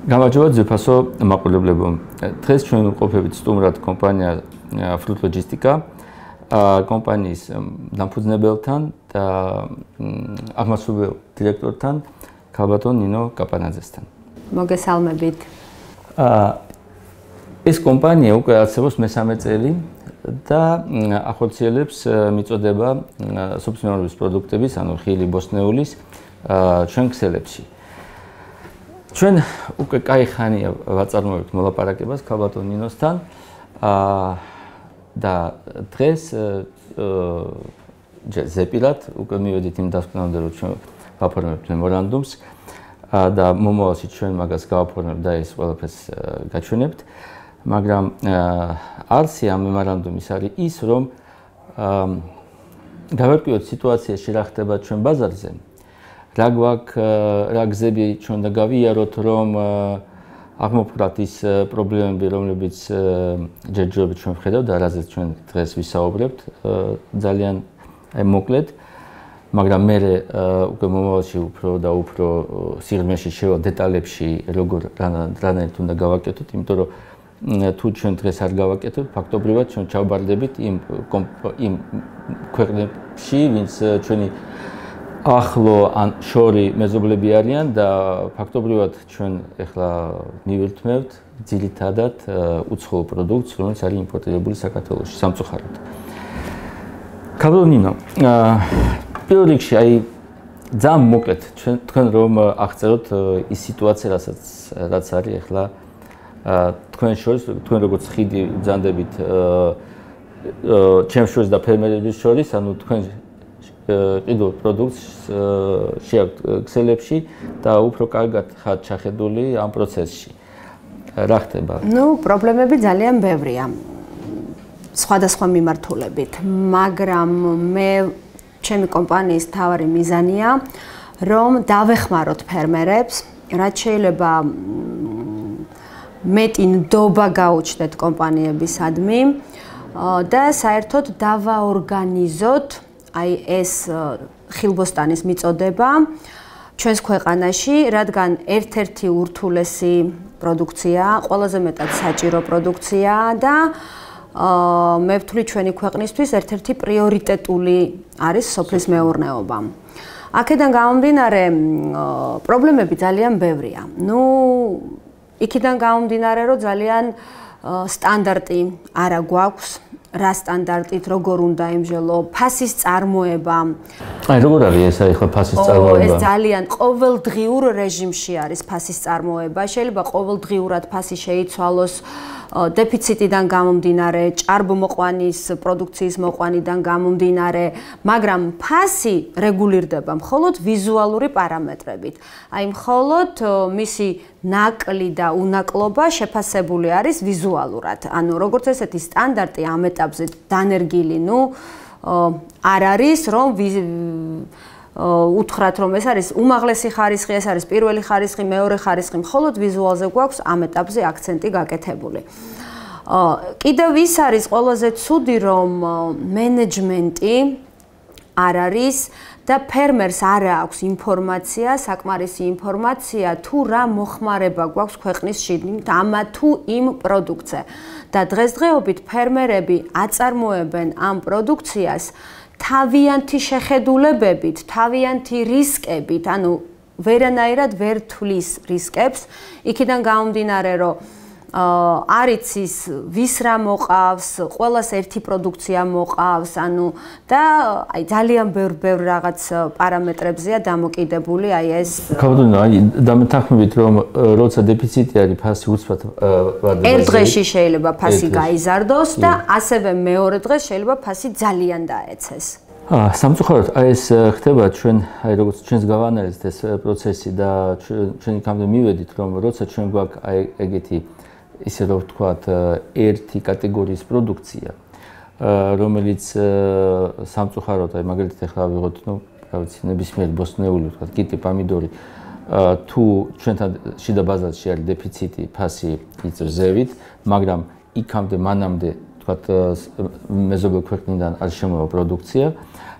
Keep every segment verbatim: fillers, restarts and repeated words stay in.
გამარჯობა ძვირფასო მაყურებლებო. დღეს ჩვენ ვყოფებით სტუმრად კომპანია Fruit Logistica კომპანიის დამფუძნებელთან და აღმასრულებელ დირექტორთან ქალბატონ ნინო კაპანაძესთან. მოგესალმებით. ეს კომპანია უკვე არსებობს მესამე წელი და ახორციელებს მიწოდება სუბსიდირების პროდუქტების, ანუ ხილი, ბოსტნეულის ჩვენ ქსელებში. ჩვენ უკვე კაი ხანია ვაწარმოებთ მოლაპარაკებას ქალბატონ ნინოსთან და დღეს ზეპილად უკვე მივედით იმ დასკვნამდე, რომ ჩვენ ვაფორმებთ მემორანდუმს და მომავალში ჩვენ მაგას გავაფორმებთ და ეს ყველაფერს გაჩვენებთ, მაგრამ არსი ამ მემორანდუმის არის ის, რომ გავერკვიოთ სიტუაციაში რა ხდება ჩვენ ბაზარზე. რა გვაქვს, რა გზები ჩვენ და გავიაროთ, რომ აღმოფხვრათ ის პრობლემები, რომლებიც ჯერჯერობით ჩვენ ვხედავთ და რაზეც ჩვენ დღეს ვისაუბრებთ, ძალიან მოკლედ, მაგრამ მე უკვე მომავალში უფრო და უფრო სიღრმეში შევა დეტალებში, როგორ რანაირად უნდა გავაკეთოთ, იმიტომ რომ თუ ჩვენ დღეს არ გავაკეთებთ, ფაქტობრივად ჩვენ ჩავბარდებით იმ იმ ქვეყნებში, ვინც ჩვენი ახლო ან შორი მეზობლები არიან და ფაქტობრივად ჩვენ ახლა მივირთმევთ ძირითადად უცხოურ პროდუქტს, რომელიც არის იმპორტირებული საქართველოში სამწუხაროდ. ქალბატონ ნინო, პირველ რიგში აი ძალიან მოკლედ ჩვენ თქვენ რომ აღწეროთ ის სიტუაცია, რასაც რაც არის ახლა თქვენ შორის, თქვენ როგორც ხიდი ბრძანდებით ჩემს შორის და ფერმერების შორის, ანუ თქვენ ყიდულ პროდუქტს შეაქვთ ქსელებში და უფრო კარგად ხართ ჩახედული ამ პროცესში. რა ხდება? ნუ, პრობლემები ძალიან ბევრია. სხვადასხვა მიმართულებით, მაგრამ მე ჩემი კომპანიის მთავარი მიზანია, რომ დავეხმაროთ ფერმერებს, რაც შეიძლება მეტი ნდობა გაუჩნდეთ კომპანიებისადმი და საერთოდ დავაორგანიზოთ აი ეს ხილბოსტანის მიწოდება ჩვენს ქვეყანაში, რადგან ერთ-ერთი ურთულესი პროდუქცია, ყველაზე მეტად საჭირო პროდუქცია და მე ვთვლი ჩვენი ქვეყნისთვის ერთ-ერთი პრიორიტეტული არის სოფლის მეურნეობა. აქედან გამომდინარე, პრობლემები ძალიან ბევრია. ნუ, იქიდან გამომდინარე, რომ ძალიან სტანდარტი არა გვაქვს. რა სტანდარტით, როგორ უნდა იმჟელო, ფასის წარმოება. აი, როგორ არის ეს ახლა ფასის წარმოება? ეს ძალიან ყოველდღიურ რეჟიმში არის ფასის წარმოება. შეიძლება ყოველდღიურად ფასი შეიცვალოს დეფიციტიდან გამომდინარე, ჭარბმოყვანის პროდუქციის მოყვანიდან გამომდინარე, მაგრამ ფასი რეგულირდება მხოლოდ ვიზუალური პარამეტრებით. აი, მხოლოდ მისი ნაკლი და უნაკლობა შეფასებული არის ვიზუალურად. ანუ როგორც ესეთი სტანდარტი ამ ეტაპზე დანერგილი, ნუ არ არის, რომ უთხრათ, რომ ეს არის უმაღლესი ხარისხი, ეს არის პირველი ხარისხი, მეორე ხარისხი, მხოლოდ ვიზუალზე გვაქვს ამ ეტაპზე აქცენტი გაკეთებული. კიდევ ის არის ყველაზე ცუდი, რომ მენეჯმენტი არ არის და ფერმერს არ აქვს ინფორმაცია, საკმარისი ინფორმაცია თუ რა მოხმარება გვაქვს ქვეყნის შიგნით ამ თუ იმ პროდუქტზე. და დღესდღეობით ფერმერები აწარმოებენ ამ პროდუქციას თავიანთი შეხედულებებით, თავიანთი რისკებით, ანუ ვერანაირად ვერ თვლის რისკებს, იქიდან გამომდინარე, რომ არ იცის ვის რა მოყავს, ყველას ერთი პროდუქცია მოყავს, ანუ და აი ძალიან ბევრ ბევრ რაღაც პარამეტრებზეა დამოკიდებული აი ეს. ქალბატონო, აი დამეთანხმებით, რომ როცა დეფიციტი არის, ფასი უცბად ვარდება. ერთ დღეში შეიძლება ფასი გაიზარდოს და ასევე მეორე დღეს შეიძლება ფასი ძალიან დაეცეს. სამწუხაროდ აი ეს ხდება ჩვენ, აი როგორც ჩვენს გავანალიზეთ ეს პროცესი და ჩვენ იქამდე მივედით, რომ როცა ჩვენ გვაქვს აი ეგეთი ისე რომ ვთქვათ, ერთი კატეგორიის პროდუქცია, რომელიც სამწუხაროდ, აი მაგალითად ახლა ვიღოთ, ნუ, რა ვიცი, ნებისმიერი ბოსტნეული, ვთქვათ, კიტი, პამიდორი, თუ ჩვენთან შიდა ბაზარში არის დეფიციტი, ფასი იწევს ზევით, მაგრამ იქამდე მანამდე, ვთქვათ, მეზობელ ქვეყნიდან არ შემოვა პროდუქცია,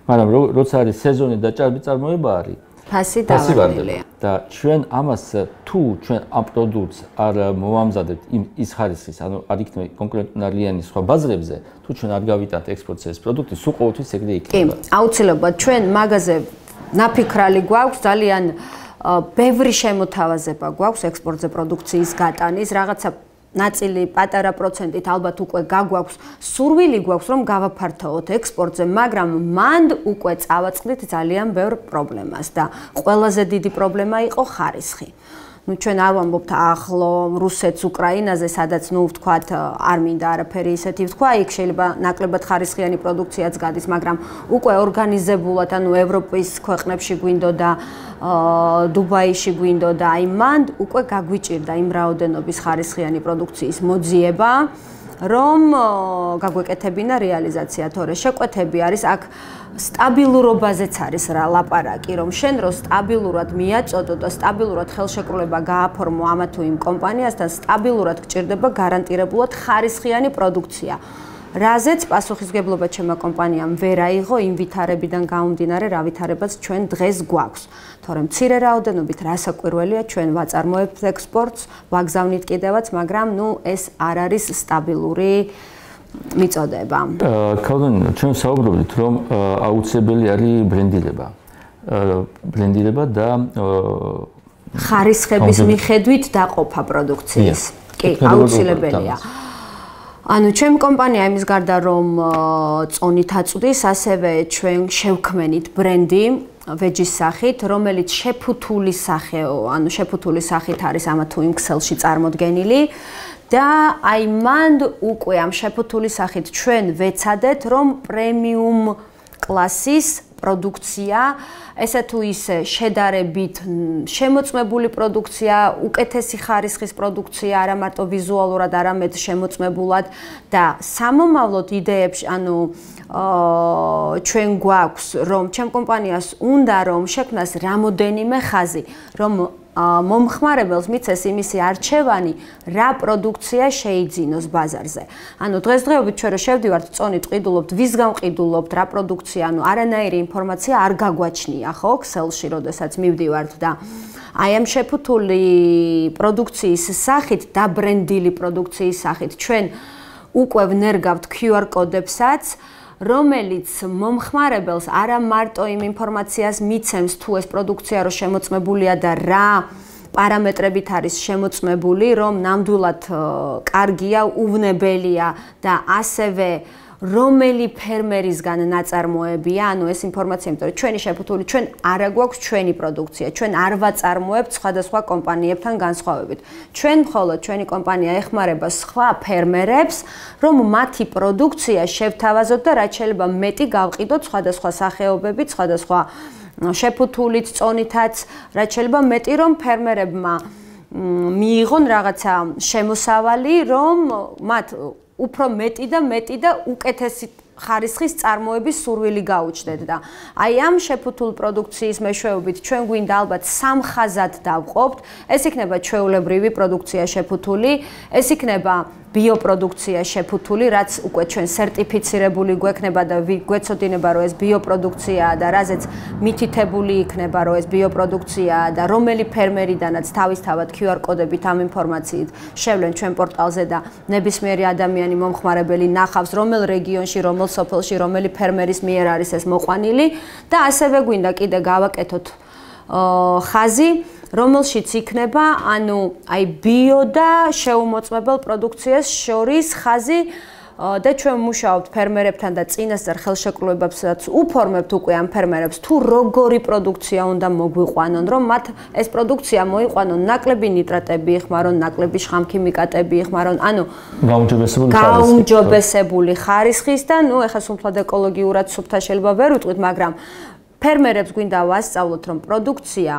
მაგრამ როცა არის სეზონი და ჭარბი წარმოება არის, ფასი დავარდილია. და ჩვენ ამას თუ ჩვენ ამ პროდუქტს არ მოვამზადებთ ის ხარისხის, ანუ არ იქნება კონკურენტუნარიანი სხვა ბაზრებზე, თუ ჩვენ არ გავიტანთ ექსპორტზე ეს პროდუქტი, სულ ყოველთვის ეგრე იქნება. კი, აუცილებლად ჩვენ მაგაზე ნაფიქრალი გვაქვს, ძალიან ბევრი შემოთავაზება გვაქვს ექსპორტზე პროდუქციის გატანის, რაღაცა ნაწილი პატარა პროცენტით ალბათ უკვე გაგვაქვს, სურვილი გვაქვს რომ გავაფართოვოთ ექსპორტზე, მაგრამ მანდ უკვე წავაწყდით ძალიან ბევრ პრობლემას და ყველაზე დიდი პრობლემა იყო ხარისხი. ნუ ჩვენ არ ვამბობთ ახლო რუსეთს, უკრაინაზე, სადაც ნუ ვთქვათ არ მინდა არაფერი ისეთი ვთქვა, იქ შეიძლება ნაკლებად ხარისხიანი პროდუქციაც გადის, მაგრამ უკვე ორგანიზებულად, ანუ ევროპის ქვეყნებში გვინდოდა, დუბაიში გვინდოდა, აი მანდ უკვე გაგვიჭირდა იმ რაოდენობის ხარისხიანი პროდუქციის მოძიება, რომ გაგვეკეთებინა რეალიზაცია, თორე შეკვეთები არის აქ სტაბილურობაზეც არის რა ლაპარაკი, რომ შენ რო სტაბილურად მიაწოდო და სტაბილურად ხელშეკრულება გააფორმო ამა თუ იმ კომპანიასთან, სტაბილურად გჭირდება გარანტირებულად ხარისხიანი პროდუქცია. რაზეც პასუხისმგებლობა ჩემმა კომპანიამ ვერ აიღო იმ ვითარებიდან გამომდინარე, რა ვითარებაც ჩვენ დღეს გვაქვს. თორემ მცირე რაოდენობით რასაკვირველია, ჩვენ ვაწარმოებთ ექსპორტს, ვაგზავნით კიდევაც, მაგრამ ნუ ეს არ არის სტაბილური მიწოდება. ქალბატონო, ჩვენ საუბრობთ, რომ აუცილებელი არის ბრენდირება. ბრენდირება და ხარისხების მიხედვით დაყოფა პროდუქციის. კი, აუცილებელია. ანუ ჩემი კომპანია იმის გარდა რომ წონით აწვდის, ასევე ჩვენ შევქმენით ბრენდი ვეჯის სახით, რომელიც შეფუთული სახეო, ანუ შეფუთული სახით არის ამა თუ იმ ქსელში წარმოდგენილი. და აი მანდ უკვე ამ შეფუთული სახით ჩვენ ვეცადეთ, რომ პრემიუმ კლასის პროდუქცია, ესე თუ ისე შედარებით შემოწმებული პროდუქცია, უკეთესი ხარისხის პროდუქცია, არა მარტო ვიზუალურად, არამედ შემოწმებულად და სამომავლოდ იდეებში, ანუ ჩვენ გვაქვს, რომ ჩემ კომპანიას უნდა რომ შექმნას რამოდენიმე ხაზი, რომ მომხმარებელს მიცეს იმისი არჩევანი, რა პროდუქცია შეიძინოს ბაზარზე. ანუ დღესდღეობით ჩვენ რო შევდივართ წონით, ყიდულობთ, ვისგან ყიდულობთ, რა პროდუქცია, ანუ არანაირი ინფორმაცია არ გაგვაჩნია, ხო, ქსელში, როდესაც მივდივართ და აი ამ შეფუთული პროდუქციის სახით, დაბრენდილი პროდუქციის სახით ჩვენ უკვე ვნერგავთ ქიუ არ კოდებსაც, რომელიც მომხმარებელს არა მარტო იმ ინფორმაციას მიცემს, თუ ეს პროდუქცია რო შემოწმებულია და რა პარამეტრებით არის შემოწმებული, რომ ნამდვილად კარგია, უვნებელია და ასევე რომელი ფერმერისგან ნაწარმოებია, ანუ ეს ინფორმაცია, იმიტომ რომ ჩვენი შეფუთული, ჩვენ არ აგვაქვს ჩვენი პროდუქცია, ჩვენ არ ვაწარმოებთ სხვადასხვა კომპანიებთან განსხვავებით. ჩვენ მხოლოდ ჩვენი კომპანია ეხმარება სხვა ფერმერებს, რომ მათი პროდუქცია შევთავაზოთ და რაც შეიძლება მეტი გავყიდოთ სხვადასხვა სახეობებით, სხვადასხვა შეფუთულით, წონითაც, რაც შეიძლება მეტი რომ ფერმერებმა მიიღონ რაღაცა შემოსავალი, რომ მათ უფრო მეტი და მეტი და უკეთესი ხარისხის წარმოების სურვილი გაუჩნდეთ და აი ამ შეფუთულ პროდუქციის მეშვეობით ჩვენ გვინდა ალბათ სამ ხაზად დავყოფთ. ეს იქნება ჩვეულებრივი პროდუქცია შეფუთული, ეს იქნება ბიოპროდუქცია შეფუთული, რაც უკვე ჩვენ სერტიფიცირებული გვექნება და გვეცოდინება, რომ ეს ბიოპროდუქციაა და რაზეც მითითებული იქნება, რომ ეს ბიოპროდუქციაა და რომელი ფერმერიდანაც თავისთავად ქიუ არ კოდებით ამ ინფორმაციით შევლენ ჩვენ პორტალზე და ნებისმიერი ადამიანი მომხმარებელი ნახავს, რომელ რეგიონში, რომელ სოფელში, რომელი ფერმერის მიერ არის ეს მოყვანილი და ასევე გვინდა კიდე გავაკეთოთ ხაზი, რომელშიც იქნება, ანუ აი ბიო და შეუმოწმებელ პროდუქციას შორის ხაზი და ჩვენ მუშაობთ ფერმერებთან და წინასწარ ხელშეკრულებებსაც უფორმებთ უკვე ამ ფერმერებს, თუ როგორი პროდუქცია უნდა მოგვიყვანონ, რომ მათ ეს პროდუქცია მოიყვანონ, ნაკლები ნიტრატები იხმარონ, ნაკლები შხამქიმიკატები იხმარონ, ანუ გაუმჯობესებული გაუმჯობესებული ხარისხის და ნუ ეხლა სულთად ეკოლოგიურად სუფთა შეიძლება ვერ ვიტყვით, მაგრამ ფერმერებს გვინდა ვასწავლოთ, რომ პროდუქცია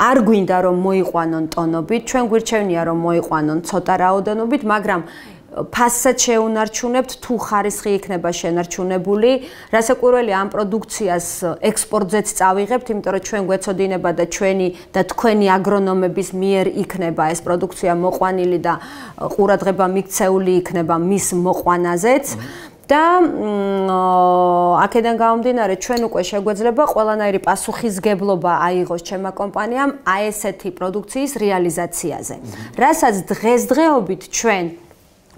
არ გვინდა რომ მოიყვანონ ტონობით, ჩვენ გვირჩევნია რომ მოიყვანონ ცოტა რაოდენობით, მაგრამ ფასსაც შეუნარჩუნებთ თუ ხარისხი იქნება შენარჩუნებული, რასაკვირველია ამ პროდუქციას ექსპორტზეც წავიღებთ, იმიტომ რომ ჩვენ გვეცოდინება და ჩვენი და თქვენი აგრონომების მიერ იქნება ეს პროდუქცია მოყვანილი და ყურადღება მიქცეული იქნება მის მოყვანაზეც. და აქედან გამომდინარე ჩვენ უკვე შეგვეძლება ყველანაირი პასუხისგებლობა აიღოს ჩემმა კომპანიამ აი ესეთი პროდუქციის რეალიზაციაზე. რასაც დღესდღეობით ჩვენ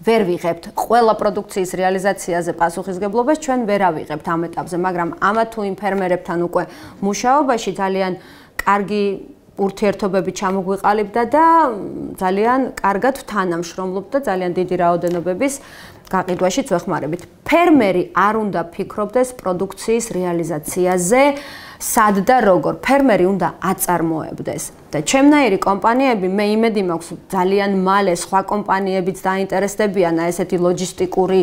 ვერ ვიღებთ ყველა პროდუქციის რეალიზაციაზე პასუხისგებლობას ჩვენ ვერ ავიღებთ ამ ეტაპზე, მაგრამ ამა თუ იმ ფერმერებთან უკვე მუშაობაში ძალიან კარგი ურთიერთობები ჩამოგვიყალიბდა და ძალიან კარგად თანამშრომლობთ და ძალიან დიდი რაოდენობების გაყიდვაშიც ვეხმარებით. ფერმერი არ უნდა ფიქრობდეს პროდუქციის რეალიზაციაზე, სად და როგორ. ფერმერი უნდა აწარმოებდეს. და ჩემნაირი კომპანიები, მე იმედი მაქვს, ძალიან მალე სხვა კომპანიებიც დაინტერესდებიან ესეთი ლოჯისტიკური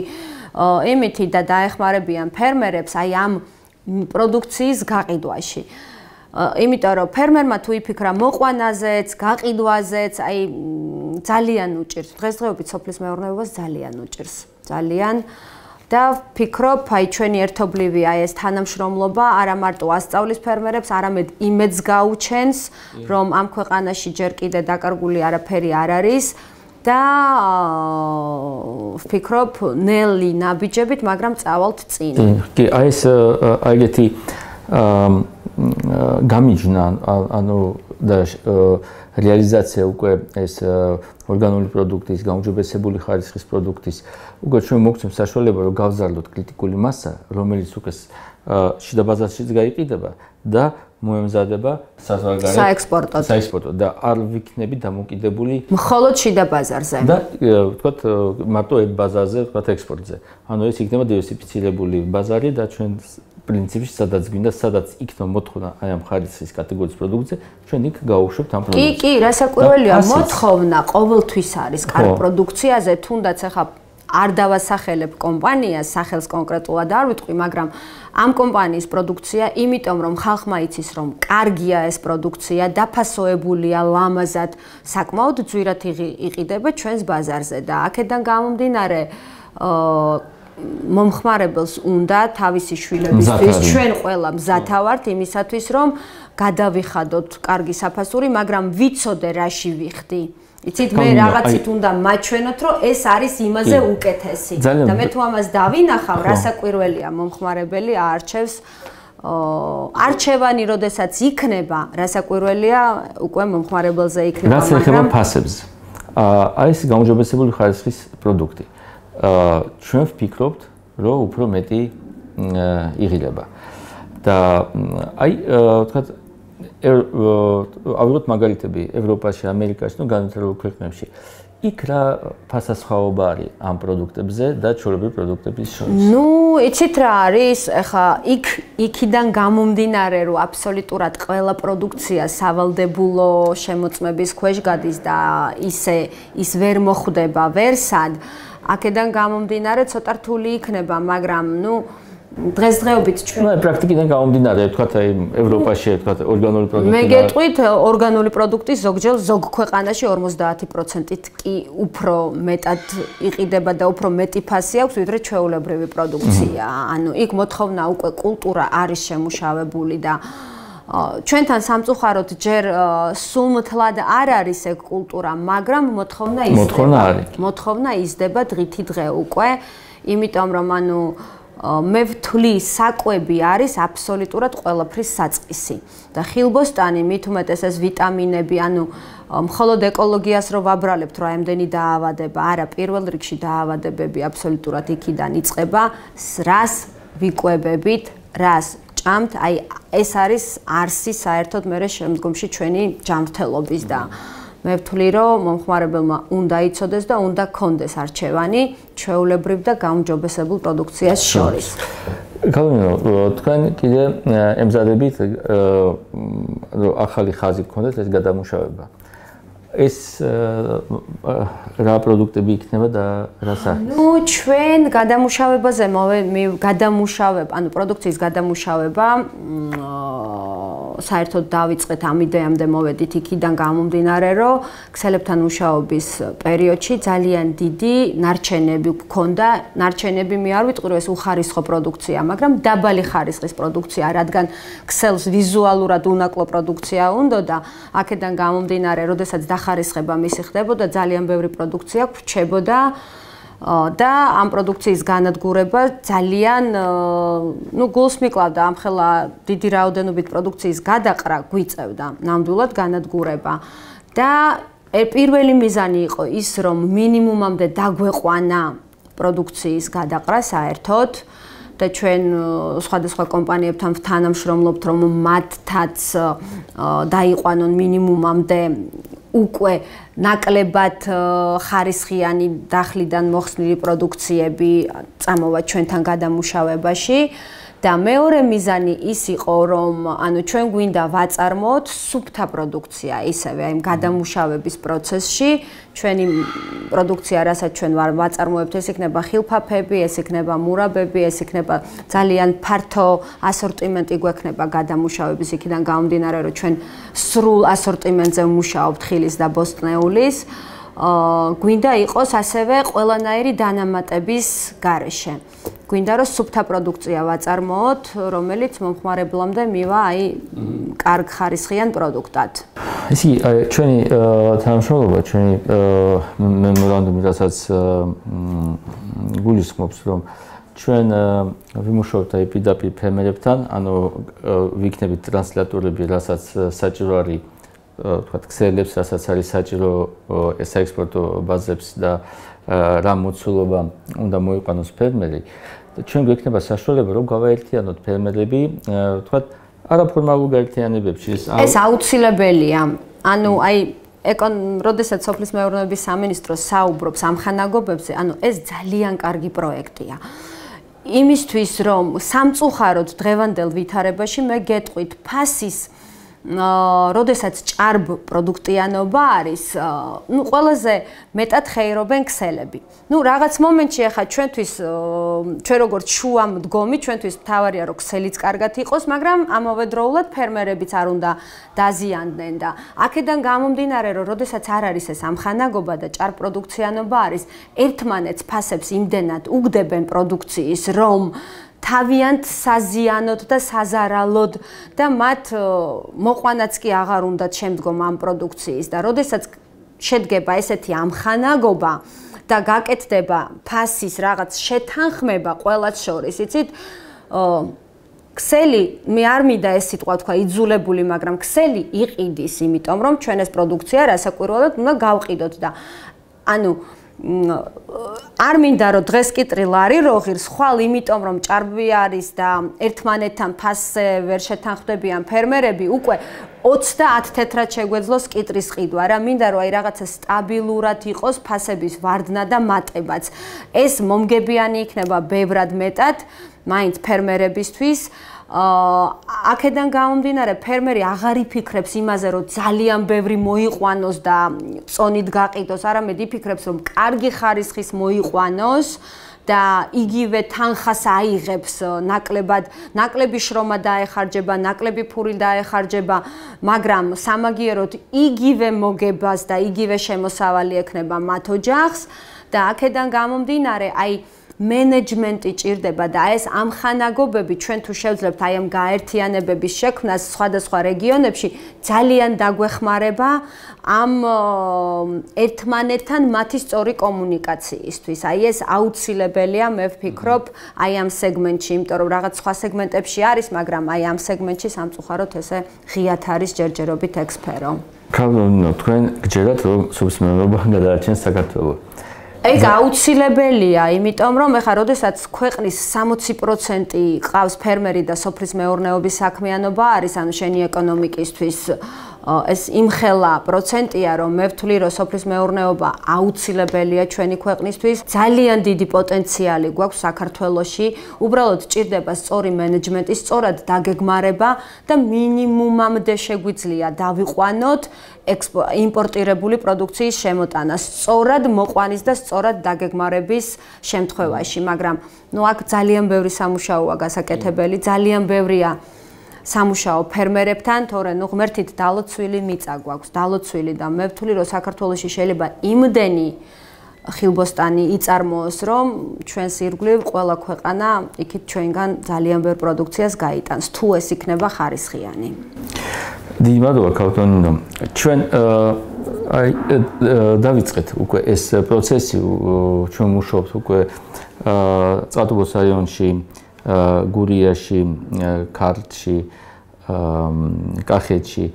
იმითი და დაეხმარებიან ფერმერებს აი ამ პროდუქციის გაყიდვაში. იმიტომ რომ ფერმერმა თუ იფიქრა მოყვანაზეც, გაყიდვაზეც, აი ძალიან უჭირს. დღესდღეობით სოფლის მეურნეობას ძალიან უჭირს. ძალიან და ვფიქრობ, აი ჩვენი ერთობლივი აი ეს თანამშრომლობა არა მარტო ასწავლის ფერმერებს, არამედ იმედს გაუჩენს, რომ ამ ქვეყანაში ჯერ კიდე დაკარგული არაფერი არ არის და ვფიქრობ, ნელი ნაბიჯებით, მაგრამ წავალთ წინ. კი, აი ეს აიგეთი გამიჯნა, ანუ და რეალიზაცია უკვე ეს ორგანული პროდუქტის, გაუმჯობესებული ხარისხის პროდუქტის უკვე ჩვენ მოგცემს საშუალება, რომ გავზარდოთ კრიტიკული მასა, რომელიც უკვე შიდა ბაზარშიც გაიყიდება და მოემზადება საზღვარგარეთ საექსპორტოდ. საექსპორტოდ და არ ვიქნები დამოკიდებული მხოლოდ შიდა ბაზარზე. და ვთქვათ მარტო ერთ ბაზარზე, ვთქვათ ექსპორტზე. ანუ ეს იქნება დივერსიფიცირებული ბაზარი და ჩვენ პრინციპში სადაც გვინდა, სადაც იქნება მოთხოვნა აი ამ ხარისხის კატეგორიის პროდუქტზე, ჩვენ იქ გავუშვებთ ამ პროდუქტს. კი, კი, რასაკვირველია, მოთხოვნა ყოველთვის არის კარგ პროდუქციაზე, თუნდაც ახლა არ დავასახელებ კომპანიას, სახელს კონკრეტულად არ ვიტყვი, მაგრამ ამ კომპანიის პროდუქცია, იმიტომ რომ ხალხმა იცის, რომ კარგია ეს პროდუქცია, დაფასოებულია ლამაზად, საკმაოდ ძვირად იყიდება ჩვენს ბაზარზე და აქედან გამომდინარე მომხმარებელს უნდა თავისი შვილებისთვის ჩვენ ყველა მზათა ვართ იმისათვის რომ გადავიხადოთ კარგი საფასური, მაგრამ ვიცოდე რაში ვიხდი. იცით მე რაღაცით უნდა მაჩვენოთ რომ ეს არის იმაზე უკეთესი და მე თუ ამას დავინახავ, რასაკვირველია მომხმარებელი აარჩევს არჩევანი როდესაც იქნება, რასაკვირველია უკვე მომხმარებელზე იქნება, მაგრამ რაც ეხება ფასებს. აი ეს გაუმჯობესებული ხარისხის პროდუქტი. ჩვენ ვფიქრობთ, რომ უფრო მეტი იღილება. და აი ვთქვათ ავიღოთ მაგალითები ევროპაში, ამერიკაში, ну განვითარებულ ქვეყნებში. იქ რა ფასასხაობა არის ამ პროდუქტებზე და ჩვეულებრივი პროდუქტების შორის? Ну, იცით რა არის? ეხა იქ იქიდან გამომდინარე, რომ აბსოლუტურად ყველა პროდუქცია სავალდებულო შემოწმების ქვეშ გადის და ისე ის ვერ მოხვდება ვერსად. აქედან გამომდინარე ცოტა რთული იქნება, მაგრამ ნუ დღესდღეობით ჩვენ ნუ პრაქტიკიდან გამომდინარე, ვთქვათ აი ევროპაში, ვთქვათ ორგანული პროდუქტი. მე გეტყვით, ორგანული პროდუქტი ზოგჯერ ზოგ ქვეყანაში ორმოცდაათი პროცენტით კი უფრო მეტად იყიდება და უფრო მეტი ფასი აქვს, ვიდრე ჩვეულებრივი პროდუქცია. ანუ იქ მოთხოვნა უკვე კულტურა არის შემუშავებული და ჩვენთან სამწუხაროდ ჯერ სულმთლად არ არის ეგ კულტურა, მაგრამ მოთხოვნა იზრდება. მოთხოვნა არის. მოთხოვნა იზრდება დღითი დღე უკვე, იმიტომ რომ ანუ მე ვთვლი საკვები არის აბსოლუტურად ყველაფრის საწყისი და ხილბოსტანი მით უმეტეს ეს ვიტამინები, ანუ მხოლოდ ეკოლოგიას რო ვაბრალებთ, რა ამდენი დაავადება, არა, პირველ რიგში დაავადებები აბსოლუტურად იქიდან იწყება, რას ვიკვებებით, რას ჭამთ, აი ეს არის არსი საერთოდ მე შემდგომში ჩვენი ჯანმრთელობის და მე ვთვლი, რომ მომხმარებელმა უნდა იცოდეს და უნდა ქონდეს არჩევანი ჩვეულებრივ და გაუმჯობესებულ პროდუქციას შორის. გავლენო, თქვენ კიდე ემზადებით რომ ახალი ხაზი გქონდეთ ეს გადამუშავება. ეს რა პროდუქტები იქნება და რა სახის? ნუ ჩვენ გადამუშავებაზე გადამუშავებ, ანუ პროდუქციის გადამუშავება საერთოდ დავიწყეთ ამ იდეამდე მოვედით იქიდან გამომდინარე, რომ ქსელებთან მუშაობის პერიოდში ძალიან დიდი ნარჩენები გქონდა. ნარჩენები მე არ ვიტყვი, რომ ეს უხარისხო პროდუქცია, მაგრამ დაბალი ხარისხის პროდუქცია, რადგან ქსელს ვიზუალურად უნაკლო პროდუქცია უნდა და აქედან გამომდინარე, როდესაც დახარისხება მისი ხდებოდა, ძალიან ბევრი პროდუქცია გვრჩებოდა და ამ პროდუქციის განადგურება ძალიან ნუ გულს მიკლავდა ამხელა დიდი რაოდენობით პროდუქციის გადაყრა გვიწევდა ნამდვილად განადგურება და პირველი მიზანი იყო ის რომ მინიმუმამდე დაგვეყვანა პროდუქციის გადაყრა საერთოდ და ჩვენ სხვადასხვა კომპანიებთან თანამშრომლობთ რომ მათთაც დაიყვანონ მინიმუმამდე უკვე ნაკლებად ხარისხიანი დახლიდან მოხსნილი პროდუქციები წამოვა ჩვენთან გადამუშავებაში და მეორე მიზანი ის იყო რომ ანუ ჩვენ გვინდა ვაწარმოოთ სუფთა პროდუქცია ისევე აი გადამუშავების პროცესში ჩვენი პროდუქცია რასაც ჩვენ ვაწარმოებთ ეს იქნება ხილფაფები ეს იქნება მურაბები ეს იქნება ძალიან ფართო ასორტიმენტი გვექნება გადამუშავების იქიდან გამომდინარე რომ ჩვენ სრულ ასორტიმენტზე ვმუშაობთ ხილის და ბოსტნეულის გვინდა იყოს ასევე ყველანაირი დანამატების გარეშე. გვინდა რომ სუფთა პროდუქცია ვაწარმოოთ, რომელიც მომხმარებლამდე მივა აი კარგ ხარისხიან პროდუქტად. ისი ჩვენი თანამშრომლობა, ჩვენი მემორანდუმი, რასაც გულისხმობს, რომ ჩვენ ვიმუშაობთ აი პირდაპირ ფერმერებთან, ანუ ვიქნებით ტრანსლატორები, რასაც საჭირო არის თქვათ ქსელებს, რასაც არის საჭირო საექსპორტო ბაზებს და რა მოცულობა უნდა მოიყვანოს ფერმერი. ჩვენ გვექნება საშუალება რომ გავაერთიანოთ ფერმერები, თქვათ არაფორმალურ გაერთიანებებში. ეს აუცილებელია. ანუ აი ეკონ როდესაც სოფლის მეურნეობის სამინისტრო საუბრობს ამ ხანაგობებზე, ანუ ეს ძალიან კარგი პროექტია. იმისთვის რომ სამწუხაროდ დღევანდელ ვითარებაში მე გეტყვით ფასის როდესაც ჭარბ პროდუქტიანობა არის, ну ყველაზე მეტად ხეირობენ ქსელები. ну რაღაც მომენტში ახლა ჩვენთვის ჩვენ როგორც შუა მდგომი, ჩვენთვის მთავარია რომ ქსელიც კარგად იყოს, მაგრამ ამავდროულად ფერმერებიც არ უნდა დაზიანდნენ და აქედან გამომდინარე რომ როდესაც არ არის ეს ამხანაგობა და ჭარბ პროდუქციანობა არის, ერთმანეთს ფასებს იმდენად უგდებენ პროდუქციის, რომ თავიანთ საზიანოდ და საზარალოდ და მათ მოყვანაც კი აღარ უნდათ შემდგომ ამ პროდუქციის და როდესაც შედგება ესეთი ამხანაგობა და გაკეთდება ფასის რაღაც შეთანხმება ყველას შორის, იცით, ქსელი მე არ მინდა ეს სიტყვა თქვა იძულებული, მაგრამ ქსელი იყიდის, იმიტომ რომ ჩვენ ეს პროდუქცია რასაკვირველად უნდა გავყიდოთ და ანუ არ მინდა რომ დღეს კი ტრილარი როგირს, ხვალ იმიტომ რომ ჭარბი არის და ერთმანეთთან ფასზე ვერ შეთანხმდებიან ფერმერები, უკვე ოცდაათ თეთრად შეგვეძლოს კიტრის ყიდვა რა, მინდა რომ აი რაღაცა სტაბილურად იყოს ფასების ვარდნა და მატებაც. ეს მომგებიანი იქნება ბევრად მეტად მაინც ფერმერებისთვის. აქედან გამომდინარე ფერმერი აღარ იფიქრებს იმაზე რომ ძალიან ბევრი მოიყვანოს და წონით გაყიდოს, არამედ იფიქრებს რომ კარგი ხარისხის მოიყვანოს და იგივე თანხას აიღებს ნაკლებად, ნაკლები შრომა დაეხარჯება, ნაკლები ფული დაეხარჯება, მაგრამ სამაგიეროდ იგივე მოგებას და იგივე შემოსავალი ექნება მათ ოჯახს და აქედან გამომდინარე აი მენეჯმენტი ჭირდება და ეს ამხანაგობები ჩვენ თუ შევძლებთ აი ამ გაერთიანებების შექმნას სხვადასხვა რეგიონებში ძალიან დაგვეხმარება ამ ერთმანეთთან მათი სწორი კომუნიკაციისთვის. აი ეს აუცილებელია, მე ვფიქრობ, აი ამ სეგმენტში, იმიტომ რომ რაღაც სხვა სეგმენტებში არის, მაგრამ აი ამ სეგმენტში სამწუხაროდ ესე ღიათ არის ჯერჯერობით ეგ სფერო. ქალბატონო, თქვენ გჯერათ რომ სოფლის მეურნეობა გადაარჩენს საქართველოს. ეგ აუცილებელია, იმიტომ რომ ეხლა როდესაც ქვეყნის სამოცი პროცენტი ყავს ფერმერი და სოფლის მეურნეობის საქმიანობა არის, ანუ შენი ეკონომიკისთვის ეს იმხელა პროცენტია, რომ მე ვთვლი, რომ სოფლის მეურნეობა აუცილებელია ჩვენი ქვეყნისთვის. ძალიან დიდი პოტენციალი გვაქვს საქართველოში. უბრალოდ ჭირდება სწორი მენეჯმენტი, სწორად დაგეგმარება და მინიმუმამდე შეგვიძლია დავიყვანოთ იმპორტირებული პროდუქციის შემოტანა სწორად მოყვანის და სწორად დაგეგმარების შემთხვევაში, მაგრამ ნუ აქ ძალიან ბევრი სამუშაოა გასაკეთებელი, ძალიან ბევრია სამუშაო ფერმერებთან, თორე ნუ ღმერთით დალოცვილი მიწა გვაქვს, დალოცვილი და მე ვთვლი, რომ საქართველოში შეიძლება იმდენი ხილბოსტანი იწარმოოს, რომ ჩვენს ირგვლივ ყველა ქვეყანა იქით ჩვენგან ძალიან ბევრ პროდუქციას გაიტანს, თუ ეს იქნება ხარისხიანი. დიდი მადლობა ქალბატონო. ჩვენ აი დავიწყეთ უკვე ეს პროცესი, ჩვენ მუშაობთ უკვე წყალტუბოს რაიონში, გურიაში, ქართლში, კახეთში,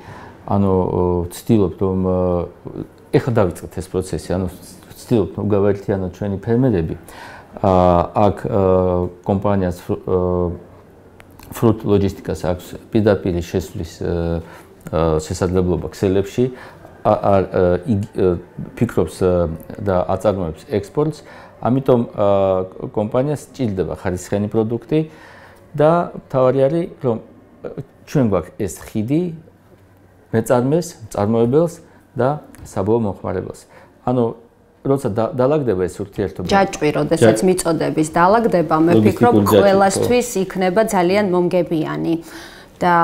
ანუ ვცდილობთ რომ ეხლა დავიწყეთ ეს პროცესი, ანუ ვცდილობთ რომ გავაერთიანოთ ჩვენი ფერმერები. აქ კომპანიას Fruit Logistics აქვს პირდაპირ შესვლის შესაძლებლობა ქსელებში, ფიქრობს და აწარმოებს ექსპორტს, ამიტომ კომპანიას სჭირდება ხარისხიანი პროდუქტი და თავარი არის რომ ჩვენ გვაქვს ეს ხიდი მეწარმეს, მწარმოებელს და საბოლოო მომხმარებელს. ანუ როცა დაალაგდება ეს ურთიერთობა. ჯაჭვი, როდესაც მიწოდების დაალაგდება, მე ვფიქრობ, ყველასთვის იქნება ძალიან მომგებიანი. და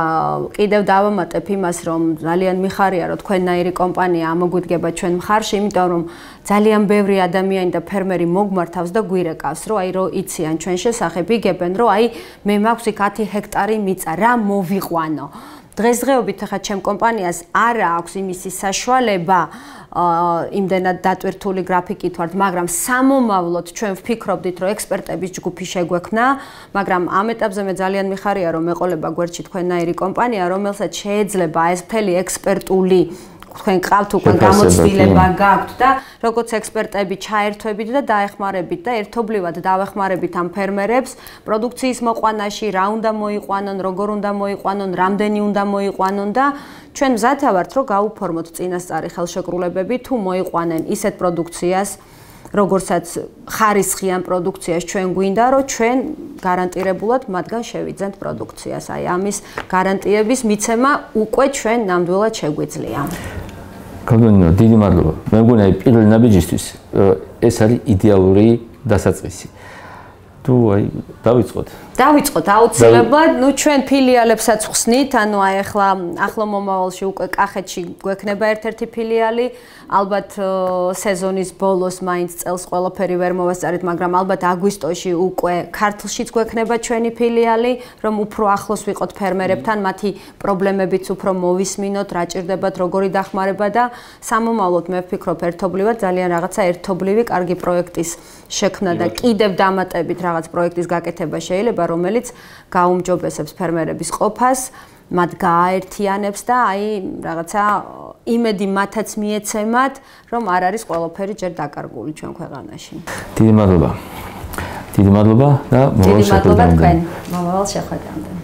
კიდევ დავამატებ იმას, რომ ძალიან მიხარია, რომ თქვენნაირი კომპანია ამოგვიდგება ჩვენ მხარში, იმიტომ რომ ძალიან ბევრი ადამიანი და ფერმერი მოგმართავს და გვირეკავს, რომ აი რო იციან ჩვენ შესახებ, იგებენ, რომ აი მე მაქვს იქ ათი ჰექტარი მიწა, რა მოვიყვანო. დღესდღეობით ახლა ჩემ კომპანიას არა აქვს იმისი საშუალება იმდენად დატვირთული გრაფიკით ვართ, მაგრამ სამომავლოდ ჩვენ ვფიქრობდით, რომ ექსპერტების ჯგუფი შეგვექმნა, მაგრამ ამ ეტაპზე მე ძალიან მიხარია, რომ მეყოლება გვერდში თქვენნაირი კომპანია, რომელსაც შეიძლება ეს მთელი ექსპერტული თქვენ ყავთ უკვე გამოცდილება გაქვთ და როგორც ექსპერტები ჩაერთვებით და დაეხმარებით და ერთობლივად დავეხმარებით ამ ფერმერებს პროდუქციის მოყვანაში, რა უნდა მოიყვანონ, როგორ უნდა მოიყვანონ, რამდენი უნდა მოიყვანონ და ჩვენ მზათა ვართ, რომ გავუფორმოთ წინასწარი ხელშეკრულებები თუ მოიყვანენ ისეთ პროდუქციას, როგორცაც ხარისხიან პროდუქციას ჩვენ გვინდა, რომ ჩვენ გარანტირებულად მათგან შევიძენთ პროდუქციას. აი ამის გარანტიების მიცემა უკვე ჩვენ ნამდვილად შეგვიძლია. გოგონინა, დიდი მადლობა. მე მგონია პირველი ნაბიჯისთვის ეს არის იდეალური დასაწყისი. თუ აი დავიწყოთ. დავიწყოთ აუცილებლად, ნუ ჩვენ ფილიალებსაც ხსნით, ანუ აი ახლა ახლო მომავალში უკვე კახეთში გვექნება ერთ-ერთი ფილიალი, ალბათ სეზონის ბოლოს მაინც წელს ყველაფერი ვერ მოვასწარით, მაგრამ ალბათ აგვისტოში უკვე ქართლშიც გვექნება ჩვენი ფილიალი, რომ უფრო ახლოს ვიყოთ ფერმერებთან, მათი პრობლემებიც უფრო მოვისმინოთ, რა ჭირდებათ, როგორი დახმარება და სამომავლოდ მე ვფიქრობ ერთობლივად ძალიან რაღაცა ერთობლივი კარგი პროექტის შექმნა და კიდევ დამატებით რაღაც პროექტის გაკეთება შეიძლება, რომელიც გაუმჯობესებს ფერმერების ყოფას, მათ გააერთიანებს და აი რაღაცა იმედი მათაც მიეცემათ, რომ არ არის ყველაფერი ჯერ დაკარგული ჩვენ ქვეყანაში. დიდი მადლობა. დიდი მადლობა და მომავალ შეხვედრამდე. დიდი მადლობა თქვენ. მომავალ შეხვედრამდე.